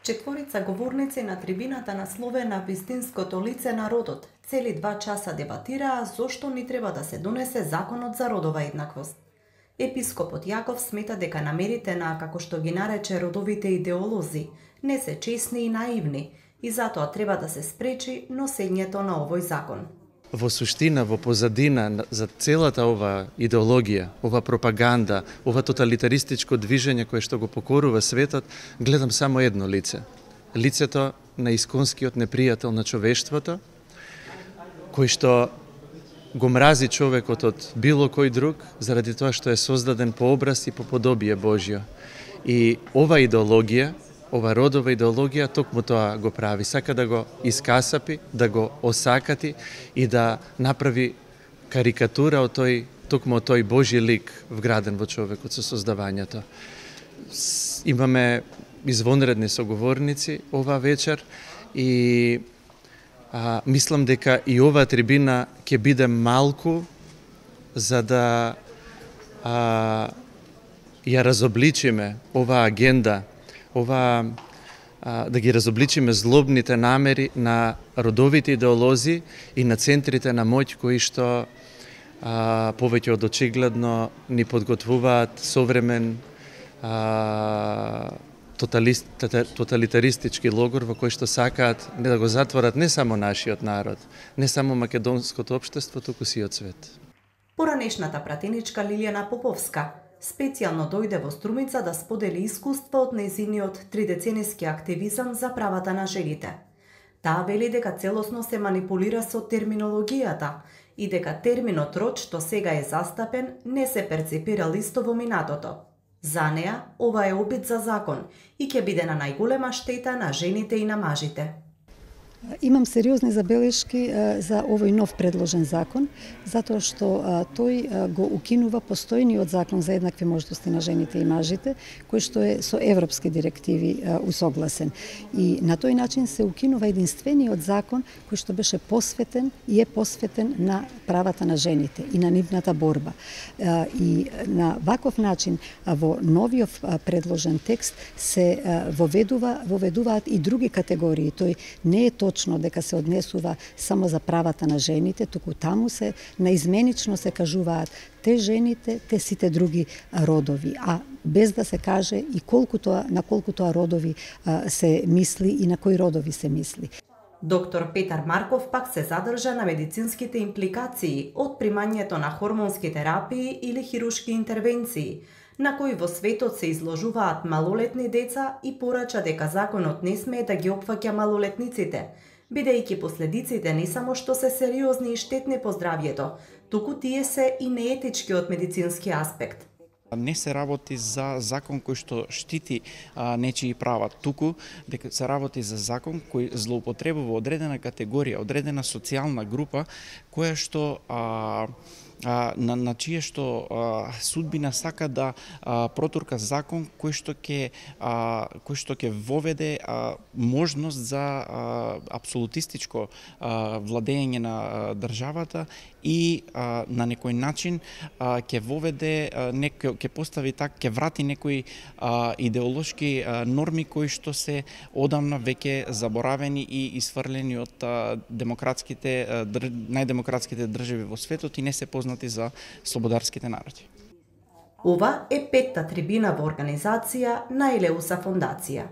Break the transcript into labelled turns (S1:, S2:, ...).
S1: Четворица говорници на трибината насловена вистинското лице на родот цели 2 часа дебатираа зошто ни треба да се донесе законот за родова еднаквост. Епископот Јаков смета дека намерите на, како што ги нарече, родовите идеолози не се честни и наивни и затоа треба да се спречи носењето на овој закон.
S2: Во суштина, во позадина за целата ова идеологија, ова пропаганда, ова тоталитаристичко движење кое што го покорува светот, гледам само едно лице. Лицето на исконскиот непријател на човештвото, кој што го мрази човекот од било кој друг, заради тоа што е создаден по образ и по подобие Божјо. И ова идеологија, ова родова идеологија токму тоа го прави, сака да го искасапи, да го осакати и да направи карикатура од токму тој Божји лик вграден во човекот со создавањето. Имаме извонредни соговорници ова вечер и мислам дека и оваа трибина ќе биде малку за да ја разобличиме оваа агенда, да ги разобличиме злобните намери на родовите идеолози и на центрите на моќ кои што повеќе од очигледно ни подготвуваат современ тоталитаристички логор во кој што сакаат да го затворат не само нашиот народ, не само македонското општество, туку сиот свет.
S1: Поранешната пратеничка Лилијана Поповска специјално дојде во Струмица да сподели искуство од нејзиниот 3-децениски активизам за правата на жените. Таа вели дека целосно се манипулира со терминологијата и дека терминот род што сега е застапен не се перципирал исто во минатото. За неа, ова е обид за закон и ќе биде на најголема штета на жените и на мажите.
S3: Имам сериозни забелешки за овој нов предложен закон, затоа што тој го укинува постојниот закон за еднакви можности на жените и мажите, кој што е со европски директиви усогласен. И на тој начин се укинува единствениот закон кој што беше посветен и е посветен на правата на жените и на нивната борба. И на ваков начин во новиот предложен текст се воведуваат и други категории. Тој не е точно дека се однесува само за правата на жените, туку таму се наизменично се кажуваат те жените, те сите други родови, а без да се каже и на колку тоа родови се мисли и на кои родови се мисли.
S1: Доктор Петар Марков пак се задржа на медицинските импликации од примањето на хормонски терапии или хирушки интервенции, на кои во светот се изложуваат малолетни деца и порача дека законот не смее да ги опфаќа малолетниците, бидејќи последиците не само што се сериозни и штетни по здравјето, туку тие се и неетички од медицински аспект.
S4: Не се работи за закон кој што штити нечии права, туку дека се работи за закон кој злоупотребува одредена категорија, одредена социјална група, која што на чие што судбина сака да протурка закон кој што ќе воведе можност за апсолутистичко владење на државата и на некој начин ќе воведе ќе постави ќе врати некои идеолошки норми кои што се одамна веќе заборавени и исфрлени од најдемократските држави во светот и не се познати за слободарските народи.
S1: Ова е 5-та трибина во организација на Елеуса фондација.